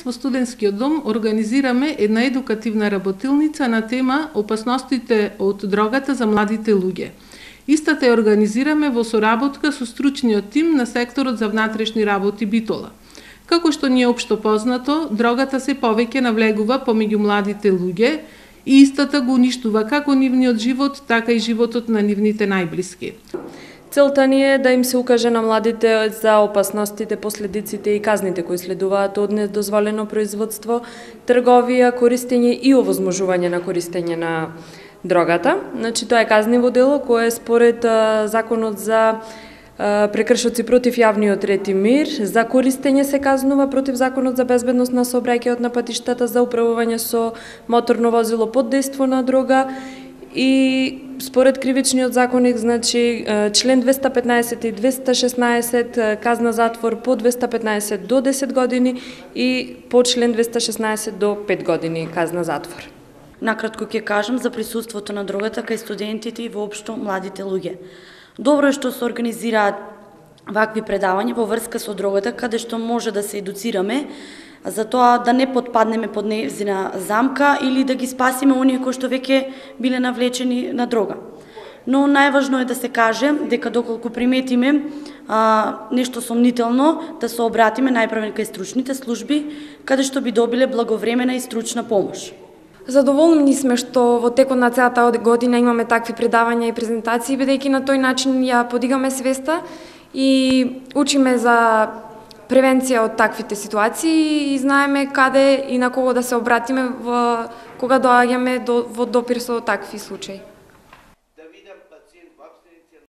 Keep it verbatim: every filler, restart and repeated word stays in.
Во студентскиот дом организираме една едукативна работилница на тема опасностите од дрогата за младите луѓе. Истата ја организираме во соработка со стручниот тим на секторот за внатрешни работи Битола. Како што ни е општо познато, дрогата се повеќе навлегува помеѓу младите луѓе и истата го уништува како нивниот живот, така и животот на нивните најблиски. Целта ни е да им се укаже на младите за опасностите, последиците и казните кои следуваат од недозволено производство, трговија, користење и овозможување на користење на дрогата. Значи, тоа е казниво дело кое според а, законот за а, прекршоци против јавниот ред и мир, за користење се казнува против законот за безбедност на сообраќајот на патиштата, за управување со моторно возило под дејство на дрога и според кривичниот законник, значи член двеста петнаесет и двеста шеснаесет казна затвор по двеста петнаесет до десет години и по член двеста шеснаесет до пет години казна затвор. Накратко ќе кажам за присуството на дрогата кај студентите и воопшто младите луѓе. Добро е што се организираат вакви предавања во врска со дрогата, каде што може да се едуцираме за тоа да не подпаднеме под нејзина замка или да ги спасиме оние кои што веќе биле навлечени на дрога. Но најважно е да се каже дека доколку приметиме а, нешто сомнително, да се обратиме најпрвен кај стручните служби, каде што би добиле благовремена и стручна помош. Задоволни сме што во текот на целата година имаме такви предавања и презентации, бидејќи на тој начин ја подигаме свеста и учиме за превенција од таквите ситуации и знаеме каде и на кого да се обратиме во, кога доаѓаме до, во допир со такви случаи.